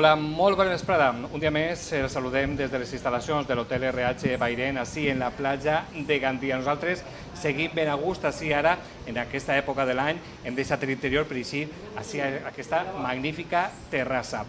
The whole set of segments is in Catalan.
Hola, molt bona vesprada. Un dia més el saludem des de les instal·lacions de l'Hotel RH Bairén, així en la platja de Gandia. Nosaltres seguim ben a gust, així ara, en aquesta època de l'any, hem deixat l'interior per així, aquesta magnífica terrassa.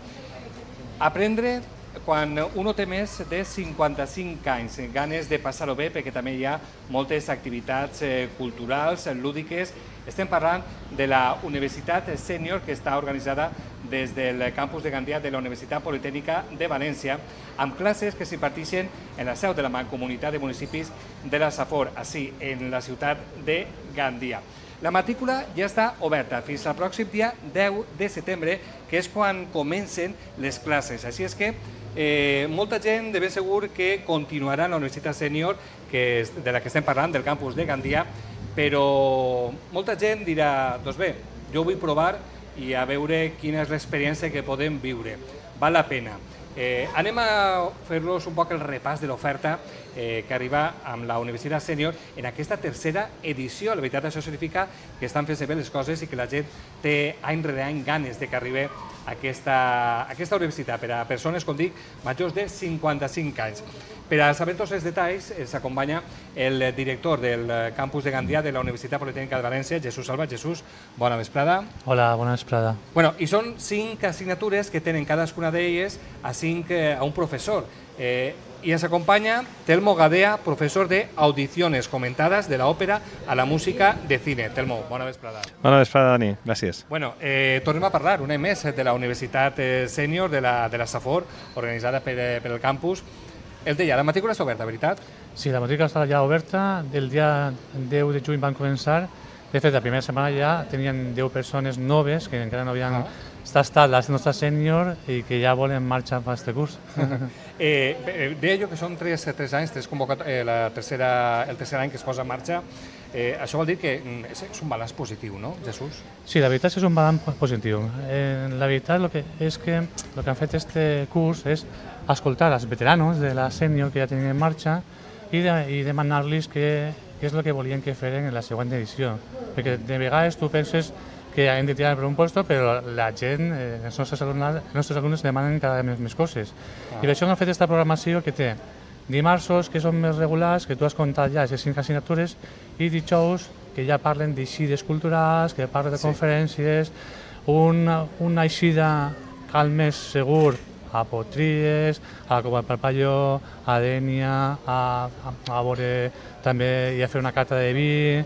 Aprendre quan uno té més de 55 anys, ganes de passar-ho bé, perquè també hi ha moltes activitats culturals, lúdiques. Estem parlant de la Universitat Sènior, que està organitzada des del campus de Gandia de la Universitat Politècnica de València, amb classes que s'imparteixen en la seu de la Mancomunitat de Municipis de la Safor, així, en la ciutat de Gandia. La matrícula ja està oberta fins al pròxim dia 10 de setembre, que és quan comencen les classes. Així és que molta gent de ben segur que continuarà en la Universitat Sènior, de la que estem parlant, del campus de Gandia, però molta gent dirà, doncs bé, jo vull provar i a veure quina és l'experiència que podem viure. Val la pena. Anem a fer-los un poc el repàs de l'oferta que arriba amb la Universitat Sènior en aquesta tercera edició. La veritat, això significa que estan fent bé les coses i que la gent té any rere any ganes de que arribi aquesta universitat per a persones, com dic, majors de 55 anys. Per a saber tots els detalls, s'acompanya el director del campus de Gandia de la Universitat Politècnica de València, Jesús Salva. Jesús, bona vesprada. Hola, bona vesprada. I són 5 assignatures que tenen cadascuna d'elles a un professor. I ens acompanya Telmo Gadea, professor de Audiciones Comentadas de la ópera a la música de cine. Telmo, bona vesprada. Bona vesprada, Dani. Gràcies. Tornem a parlar un any més de la Universitat Sènior de la Safor, organitzada per el campus. El deia, la matrícula està oberta, veritat? Sí, la matrícula està ja oberta. El dia 10 de juny van començar. De fet, la primera setmana ja tenien 10 persones noves que encara no havien estat la nostra sènior i que ja volen marxar per aquest curs. Deia jo que són 3 anys, el tercer any que es posa en marxa. Això vol dir que és un balanç positiu, no, Jesús? Sí, la veritat és que és un balanç positiu. La veritat és que el que han fet aquest curs és escoltar els veteranos de la sènior que ja tenien en marxa i demanar-los què és el que volien que feren en la següent edició. Perquè de vegades tu penses que hem de tirar per un lloc, però la gent, els nostres alumnes demanen cada vegada més coses. I per això han fet aquesta programació que té dimarts, que són més regulars, que tu has comptat ja les 5 assignatures, i dijous, que ja parlen d'eixides culturals, que parlen de conferències, una eixida cal més segur a Potries, a la Cova del Parpalló, a Dénia, a veure també i a fer una cata de vi,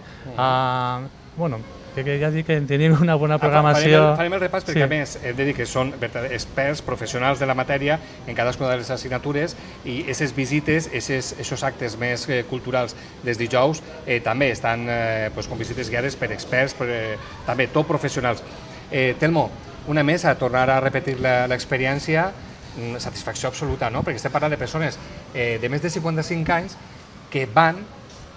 que ja dic que tenim una bona programació. Farem el repàs perquè a més hem de dir que són experts professionals de la matèria en cadascuna de les assignatures i aquestes visites, aquests actes més culturals des dijous també estan com visites guiades per experts, també tot professionals. Telmo, una més a tornar a repetir l'experiència, satisfacció absoluta, no? Perquè estem parlant de persones de més de 55 anys que van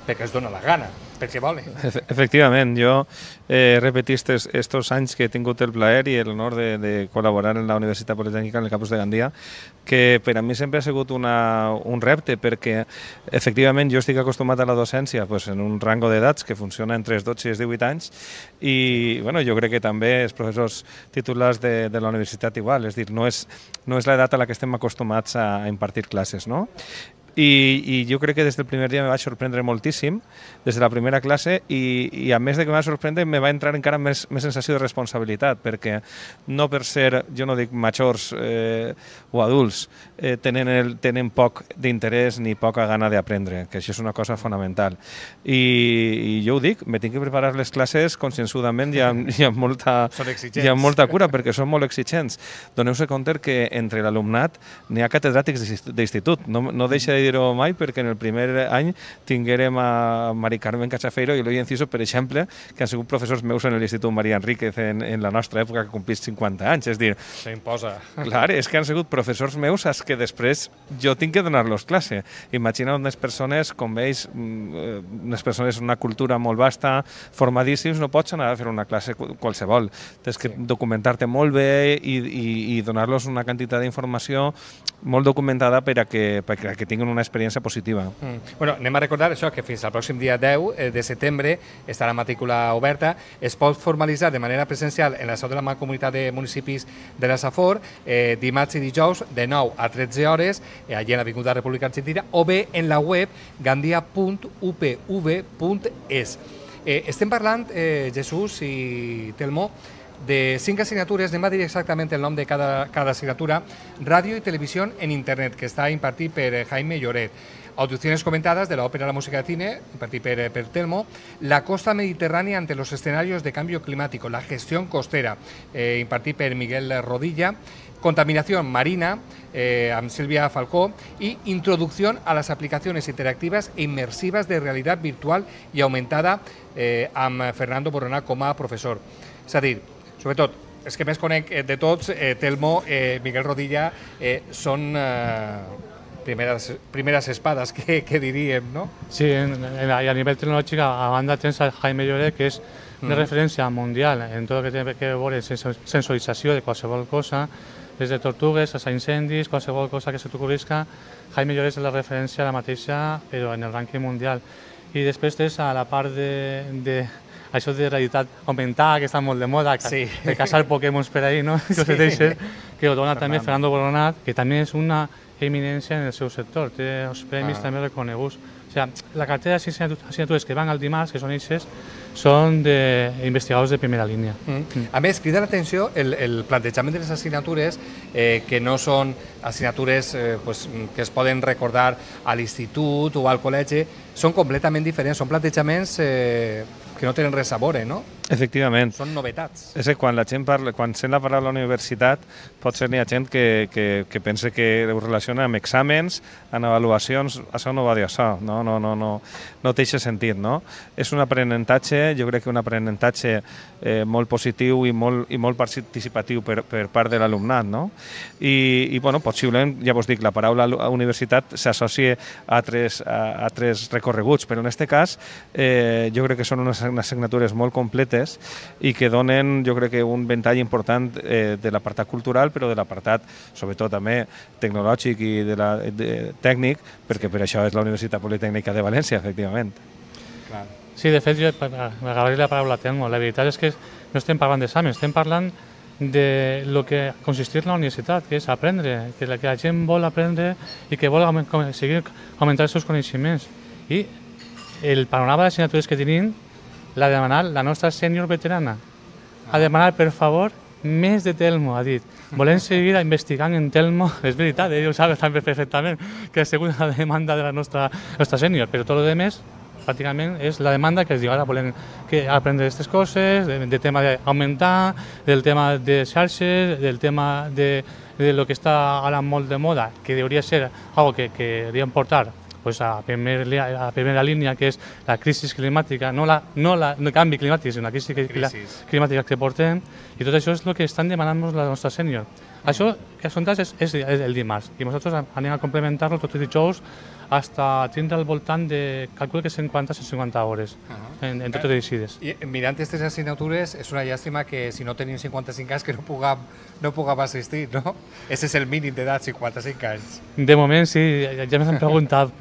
perquè es dona la gana, perquè volen. Efectivament, jo he repetit estos anys que he tingut el plaer i l'honor de col·laborar en la Universitat Politècnica en el campus de Gandia, que per a mi sempre ha sigut un repte, perquè efectivament jo estic acostumat a la docència en un rango d'edats que funciona entre els 12 i els 18 anys i jo crec que també els professors titulars de la universitat igual, és a dir, no és l'edat a la que estem acostumats a impartir classes, no? I jo crec que des del primer dia me vaig sorprendre moltíssim, des de la primera classe, i a més de que me va sorprendre, me va entrar encara més sensació de responsabilitat, perquè no per ser, jo no dic majors o adults, tenen poc d'interès ni poca gana d'aprendre, que això és una cosa fonamental. I jo ho dic, me tinc que preparar les classes conscienzudament i amb molta cura, perquè són molt exigents. Doneu-se compte que entre l'alumnat n'hi ha catedràtics d'institut, no deixa de dir-ho mai, perquè en el primer any tinguérem a Mari Carmen Cachafeiro i Eloi Enciso, per exemple, que han sigut professors meus en l'Institut María Enríquez en la nostra època, que complís 50 anys. És dir, s'imposa. Clar, és que han sigut professors meus als que després jo tinc que donar-los classe. Imagina unes persones, com veus, unes persones amb una cultura molt vasta, formadíssims, no pots anar a fer una classe qualsevol. Tens que documentar-te molt bé i donar-los una quantitat d'informació molt documentada perquè tinguin una una experiència positiva. Bueno, anem a recordar això, que fins al pròxim dia 10 de setembre estarà la matrícula oberta. Es pot formalitzar de manera presencial en la seu de la Mancomunitat de Municipis de la Safor, dimarts i dijous de 9 a 13 hores, allí en l'Avinguda República Argentina, o bé en la web gandia.upv.es. Estem parlant, Jesús i Telmo, de 5 asignatures, anem a dir exactament el nom de cada assignatura: Ràdio i Televisió en Internet, que està impartit per Jaime Lloret; Audiciones comentadas de la ópera, la música de cine, impartit per Telmo; La costa mediterránea ante los escenarios de cambio climático, la gestión costera, impartit per Miguel Rodilla; Contaminación marina, amb Silvia Falcó; y Introducción a las aplicaciones interactivas e inmersivas de realidad virtual y aumentada, amb Fernando Boronà com a professor. És a dir, sobretot, els que més conec de tots, Telmo, Miguel Rodilla, són primeres espades, que diríem, no? Sí, a nivel tecnològic, a banda tens a Jaime Lloret, que és de referència mundial en tot el que té a veure sensorització de qualsevol cosa, des de tortugues a incendis, qualsevol cosa que se t'ocorrisca. Jaime Lloret és la referència a la mateixa, però en el rànquing mundial. I després tens a la part de això de realitat augmentada, que està molt de moda, de caçar Pokémons per ahí, no? Que ho dona també Fernando Boronat, que també és una eminència en el seu sector, té els premis també reconeguts. O sigui, la cartera d'assignatures que van al dimarts, que són eixes, són d'investigadors de primera línia. A més, crida l'atenció el plantejament de les assignatures, que no són assignatures que es poden recordar a l'institut o al col·legi, són completament diferents, són plantejaments que no tenen res a veure, no? Efectivament. Són novetats. És que quan la gent parla, quan sent la paraula universitat, potser n'hi ha gent que pensa que ho relaciona amb exàmens, amb avaluacions. Això no va dir això, no té aquest sentit, no? És un aprenentatge, jo crec que un aprenentatge molt positiu i molt participatiu per part de l'alumnat, no? I bueno, possiblement, ja vos dic, la paraula universitat s'associa a altres recorreguts, però en aquest cas jo crec que són unes assignatures molt completes i que donen, jo crec que un ventall important de l'apartat cultural, però de l'apartat, sobretot també tecnològic i tècnic, perquè per això és la Universitat Politècnica de València, efectivament. Sí, de fet, jo m'agradaria la paraula Telmo. La veritat és que no estem parlant d'exàmens, estem parlant de lo que consistir en la universitat, que és aprendre, que la gent vol aprendre i que vol seguir augmentar els seus coneixements. I el panorama d'assignatures que tenim l'ha demanat la nostra sènior veterana. Ha demanat, per favor, més de Telmo, ha dit. Volem seguir investigant en Telmo. És veritat, ell ho sap també perfectament, que ha sigut la demanda de la nostra sènior, però tot el més pràcticament és la demanda que es diu ara, volem aprendre aquestes coses, del tema d'augmentar, del tema de xarxes, del tema de lo que està ara molt de moda, que hauria de ser algo que hauríem portar a primera línia, que és la crisi climàtica, no el canvi climàtic, sinó la crisi climàtica que portem, i tot això és el que estan demanant la nostra sènior. Això que són és el dimarts, i nosaltres anem a complementar-lo tots els dijous fins a tindre al voltant de, calculo que 50-150 hores en totes les decides. I mirant aquestes assignatures, és una llàstima que si no tenim 55 anys que no puguem assistir, no? Aquest és el mínim d'edat, 55 anys. De moment sí, ja m'han preguntat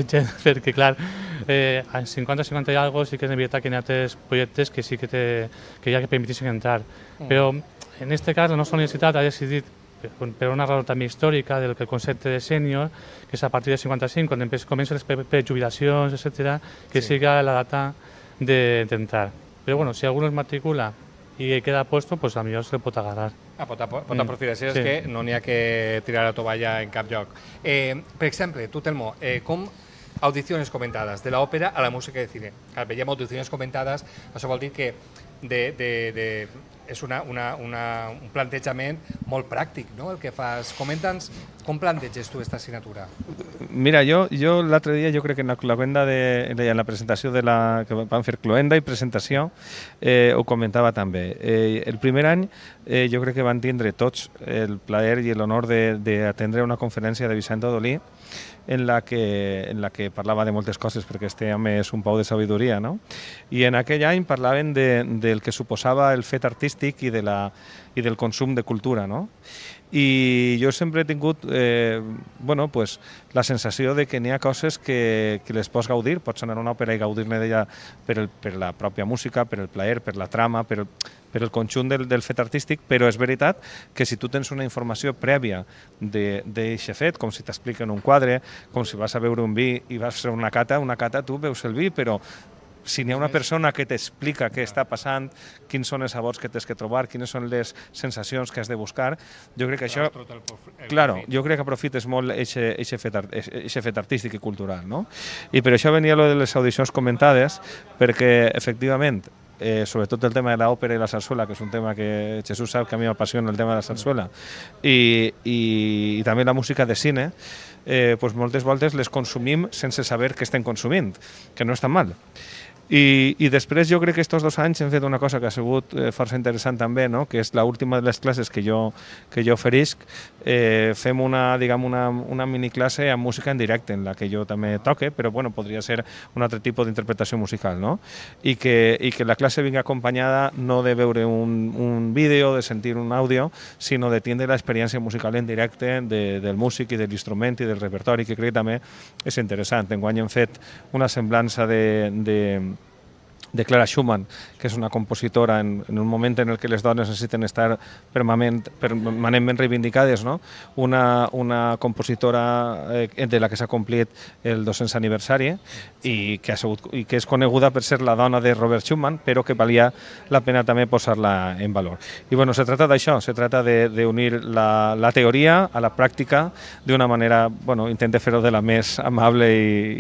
gent, perquè clar, a 50-50 i alguna sí que és veritat que hi ha altres projectes que sí que ja que permeteixen entrar. Però en aquest cas la nostra universitat ha decidit, per una raó també històrica del concepte de sènior, que és a partir de 55, quan comencen les prejubilacions, etc., que siga la data d'entrar. Però bueno, si algú es matricula i queda puesto, pues potser se pot agarrar. Pot aprofitar, és que no n'hi ha que tirar la tovalla en cap lloc. Per exemple, tu, Telmo, com audiciones comentadas, de la ópera a la música de cine. Veiem audiciones comentadas, això vol dir que és un plantejament molt pràctic, no?, el que fas. Comenta'ns com planteges tu aquesta assignatura. Mira, jo l'altre dia, jo crec que en la presentació que vam fer cloenda i presentació, ho comentava també. El primer any jo crec que van tindre tots el plaer i l'honor d'atendre una conferència de Vicent Odolí, en la que parlava de moltes coses, perquè este home és un pou de sabidoria, no? I en aquell any parlaven del que suposava el fet artístic i del consum de cultura, no? i jo sempre he tingut bueno, pues, la sensació de que n'hi ha coses que les pots gaudir, pots anar a una òpera i gaudir-ne d'ella per la pròpia música, per el plaer, per la trama, per el conjunt del fet artístic, però és veritat que si tu tens una informació prèvia d'aquest fet, com si t'expliquen un quadre, com si vas a beure un vi i vas fer una cata tu veus el vi, però si n'hi ha una persona que t'explica què està passant, quins són els sabors que tens que trobar, quines són les sensacions que has de buscar, jo crec que això... Claro, jo crec que aprofites molt aquest fet artístic i cultural, no? I per això venia lo de les audicions comentades, perquè, efectivament, sobretot el tema de l'òpera i la sarsuela, que és un tema que Jesús sap que a mi m'apassiona el tema de la sarsuela, i també la música de cine, pues moltes voltes les consumim sense saber què estem consumint, que no és tan mal. I després jo crec que aquests 2 anys hem fet una cosa que ha sigut força interessant també, no? Que és l'última de les classes que jo oferisc. Fem una miniclasse amb música en directe, en la que jo també toque, però bueno, podria ser un altre tipus d'interpretació musical, no? I que la classe vingui acompanyada no de veure un vídeo, de sentir un àudio, sinó de tindre l'experiència musical en directe del músic i de l'instrument i del repertori, que crec que també és interessant. Enguany hem fet una semblança de Clara Schumann, que és una compositora en un moment en què les dones necessiten estar permanentment reivindicades, no? Una compositora de la que s'ha complit el 200 aniversari i que és coneguda per ser la dona de Robert Schumann, però que valia la pena també posar-la en valor. I bueno, se trata d'això, se trata d'unir la teoria a la pràctica d'una manera, bueno, intente fer-ho de la més amable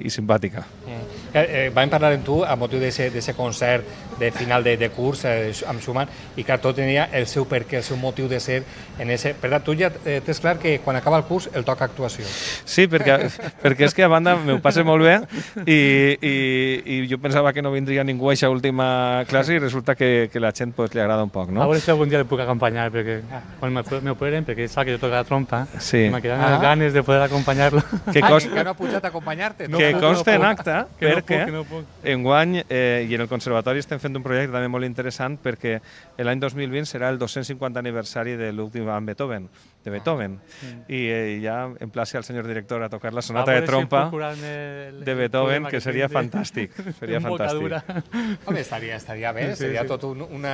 i simpàtica. Vam parlar amb tu a motiu d'aquest concert de final de curs amb Schumann i que tot tenia el seu perquè, el seu motiu de ser en ese... Per tant, tu ja tens clar que quan acaba el curs el toca actuació. Sí, perquè és que a banda m'ho passe molt bé i jo pensava que no vindria ningú a aquesta última classe i resulta que la gent li agrada un poc, no? A veure si algun dia el puc acompanyar, perquè quan m'operen, perquè sap que jo toco la trompa, me queden ganes de poder acompanyar-lo. Que no ha pujat a acompanyar-te. Que consta en acte, perquè enguany i en el Conservatori estem fent un projecte també molt interessant perquè l'any 2020 serà el 250 aniversari de l'últim amb Beethoven, i ja emplaci al senyor director a tocar la sonata de trompa de Beethoven, que seria fantàstic. Seria fantàstic. Home, estaria bé, seria tot un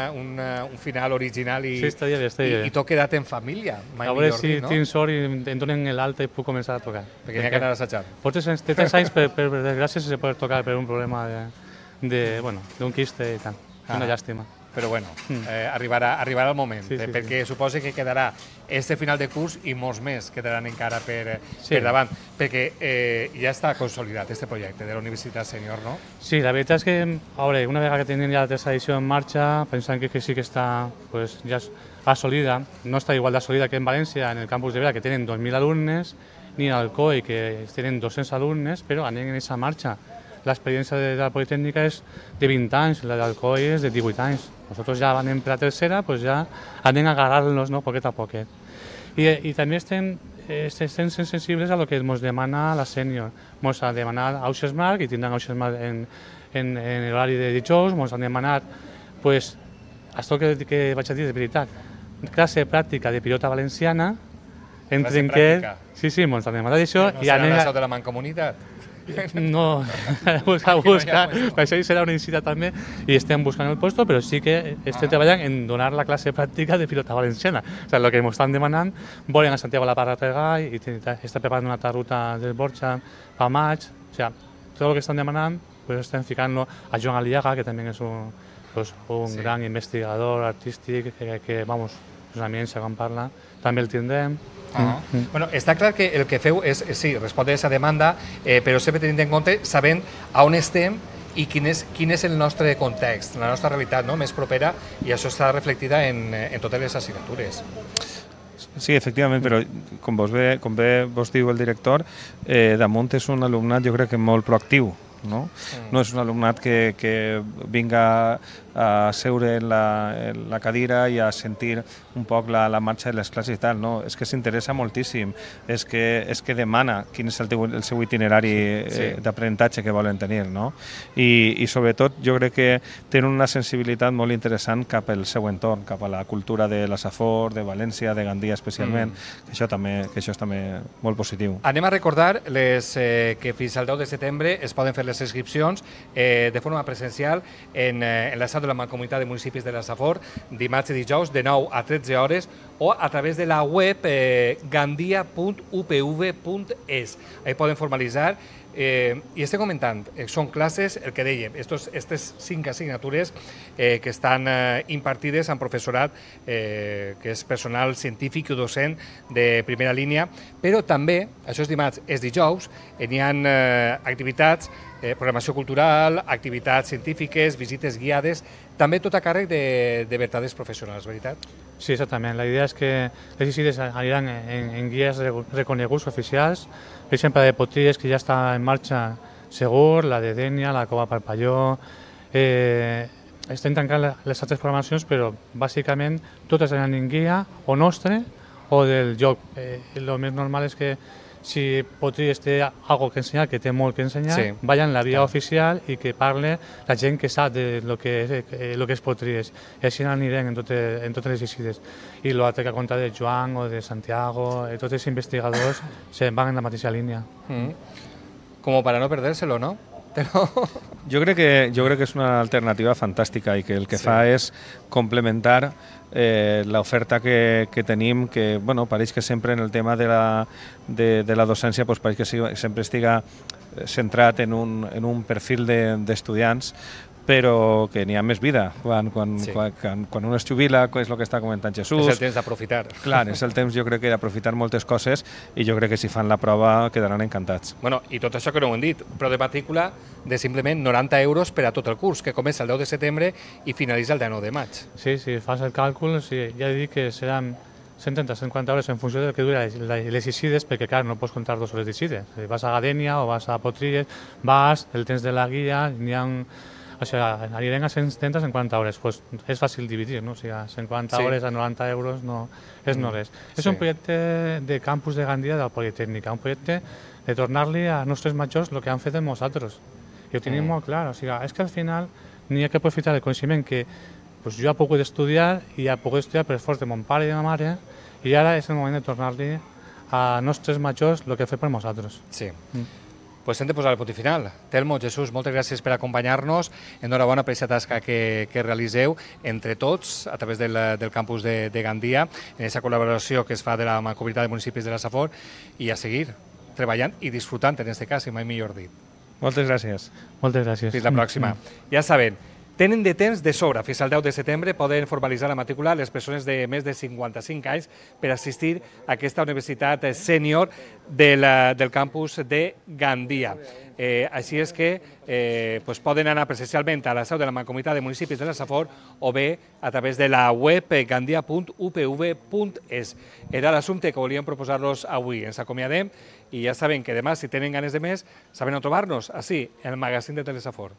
final original i tot quedat en família. A veure si tinc sort i em donen l'alta i puc començar a tocar. Perquè n'hi ha que anar a assajar. Té 3 anys, per desgràcia, sense poder tocar per un problema d'un quiste i tant. Una llàstima. Però bueno, arribarà el moment, perquè suposo que quedarà este final de curs i molts més quedaran encara per davant, perquè ja està consolidat este projecte de la Universitat Sènior, no? Sí, la veritat és que, una vegada que tenim ja la tercera edició en marxa, pensant que sí que està ja assolida, no està igual d'assolida que en València, en el campus de Vera, que tenen 2.000 alumnes, ni en Alcoi, que tenen 200 alumnes, però anem en aquesta marxa. L'experiència de la Politécnica és de 20 anys, la d'Alcoi és de 18 anys. Nosaltres ja anem per la tercera, ja anem a agarrar-nos poquet a poquet. I també estem sensibles a lo que ens demana la sènior. Ens ha demanat Auxesmarc, i tindran Auxesmarc en l'horari de dijous, ens han demanat, això que vaig a dir de veritat, classe pràctica de pilota valenciana, classe pràctica? Sí, ens han demanat això. No serà la seu de la Mancomunitat? No, buscar, per això serà una incita també i estem buscant el lloc, però sí que estem treballant en donar la classe pràctica de pilota valenciana. O sigui, el que ens estan demanant, volen a Santiago la Parra Regall i està preparant una altra ruta del Borja per maig. O sigui, tot el que estan demanant, estem ficant-lo a Joan Aliaga, que també és un gran investigador artístic, que, vamos, és una eminència quan parla, també el tindrem. Bueno, està clar que el que feu és, sí, respondre a aquesta demanda, però sempre tenint en compte, sabent on estem i quin és el nostre context, la nostra realitat més propera, i això està reflectida en totes les assignatures. Sí, efectivament, però com bé vos diu el director, damunt és un alumnat jo crec que molt proactiu. No és un alumnat que vinga a seure en la cadira i a sentir un poc la marxa de les classes i tal, no? És que s'interessa moltíssim, és que demana quin és el seu itinerari d'aprenentatge que volen tenir, no? I sobretot jo crec que tenen una sensibilitat molt interessant cap al seu entorn, cap a la cultura de la Safor, de València, de Gandia especialment, que això és també molt positiu. Anem a recordar que fins al 10 de setembre es poden fer les inscripcions de forma presencial en la seu de la Mancomunitat de Municipis de la Safor, dimarts i dijous de 9 a 13 hores, o a través de la web gandia.upv.es. Ahí poden formalitzar. I estem comentant, són classes, el que dèiem, aquestes 5 assignatures que estan impartides amb professorat que és personal científic i docent de primera línia, però també, això és dimarts, és dijous, hi ha activitats, programació cultural, activitats científiques, visites guiades, també tot a càrrec de verdaders professionals, veritat? Sí, exactament. La idea és que les visites aniran en guies reconeguts oficials. Per exemple, de Potries, que ja està en marxa Segur, la de Dénia, la Cova Parpalló. Estem tancant les altres programacions, però bàsicament totes seran en guia o nostre o del lloc. El més normal és que si Potries té alguna cosa que ensenyar, que té molt que ensenyar, vayan en la via oficial i que parle la gent que sap de lo que és Potries. I així anirem en totes les visites. I l'altre que ha contat de Joan o de Santiago, tots els investigadors van en la mateixa línia. Como para no perdérselo, ¿no? Jo crec que és una alternativa fantàstica i que el que fa és complementar l'oferta que tenim, que pareix que sempre en el tema de la docència pareix que sempre estiga centrat en un perfil d'estudiants, però que n'hi ha més vida. Quan un es jubila, és el que està comentant Jesús. És el temps d'aprofitar. Clar, és el temps, jo crec, d'aprofitar moltes coses i jo crec que si fan la prova quedaran encantats. Bueno, i tot això que no ho hem dit, però de matrícula de simplement 90 euros per a tot el curs, que comença el 10 de setembre i finalitza el 19 de maig. Sí, si fas el càlcul, ja he dit que seran 130-150 hores en funció del que dura les visites, perquè clar, no pots comptar 2 hores de visites. Si vas a Gadenia o vas a Potries, vas, el temps de la guia, n'hi ha... O sigui, anirem a 150 hores, pues és fàcil dividir, no? O sigui, 50 hores a 90 euros no és no res. És un projecte de campus de Gandia de la Politécnica, un projecte de tornar-li a nostres majors el que han fet amb nosaltres. I ho tenim molt clar, o sigui, és que al final n'hi ha que aprofitar el coneixement que jo he pogut estudiar i he pogut estudiar per esforç de mon pare i de ma mare i ara és el moment de tornar-li a nostres majors el que ha fet per nosaltres. Sí. Pues hem de posar el punt final. Telmo, Jesús, moltes gràcies per acompanyar-nos. Enhorabona per aquesta tasca que realiseu entre tots a través del campus de Gandia, en aquesta col·laboració que es fa de la Mancomunitat de Municipis de la Safor, i a seguir treballant i disfrutant, en aquest cas, i mai millor dit. Moltes gràcies. Moltes gràcies. Fins la pròxima. Ja saben, tenen de temps de sobre. Fins al 10 de setembre poden formalitzar la matrícula les persones de més de 55 anys per assistir a aquesta universitat sènior del campus de Gandia. Així és que poden anar presencialment a la seu de la Mancomunitat de Municipis de la Safor o bé a través de la web gandia.upv.es. Era l'assumpte que volíem proposar-los avui. Ens acomiadem i ja saben que demà, si tenen ganes de més, saben on trobar-nos, així, en el magazín de Telesafor.